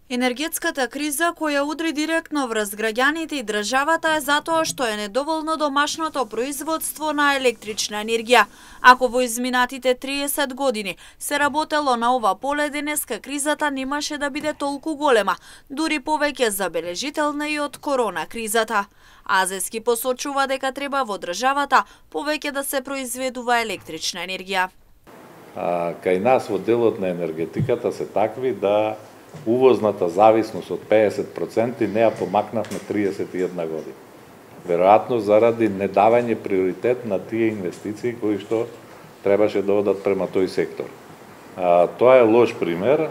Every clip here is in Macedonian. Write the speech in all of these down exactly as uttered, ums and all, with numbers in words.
Енергетската криза која удри директно врз граѓаните и државата е затоа што е недоволно домашното производство на електрична енергија. Ако во изминатите триесет години се работело на ова поле, денеска кризата немаше да биде толку голема, дури повеќе забележителна и од корона кризата. Азески посочува дека треба во државата повеќе да се произведува електрична енергија. А, кај нас во делот на енергетиката се такви да увозната зависност од педесет проценти не ја помакнавме триесет и една година. Веројатно заради недавање приоритет на тие инвестиции кои што требаше да одат према тој сектор. А, тоа е лош пример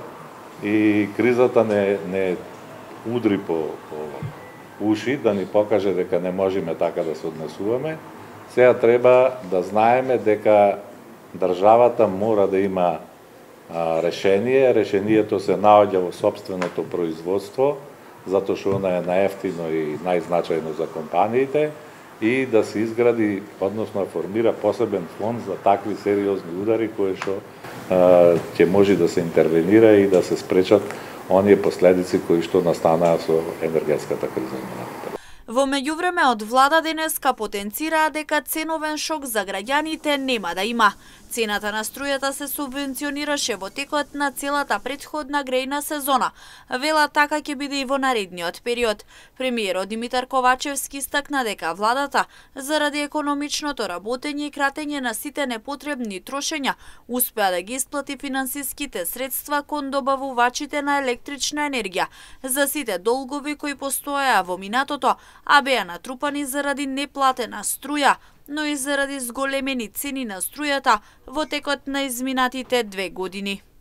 и кризата не, не удри по, по уши да ни покаже дека не можеме така да се однесуваме. Сега треба да знаеме дека државата мора да има решение. Решението се наоѓа во собственото производство, затоа што она е најефтино и најзначајно за компаниите, и да се изгради, односно формира посебен фонд за такви сериозни удари кои што ќе може да се интервенира и да се спречат оние последици кои што настанаа со енергетската криза. Во меѓувреме од влада денеска потенцираа дека ценовен шок за граѓаните нема да има. Цената на струјата се субвенционираше во текот на целата претходна грејна сезона. Вела така ќе биде и во наредниот период. Премиерот Димитар Ковачевски истакна дека владата, заради економичното работење и кратење на сите непотребни трошења, успеа да ги исплати финансиските средства кон добавувачите на електрична енергија за сите долгови кои постоеа во минатото, а беа натрупани заради неплатена струја, но и заради зголемени цени на струјата во текот на изминатите две години.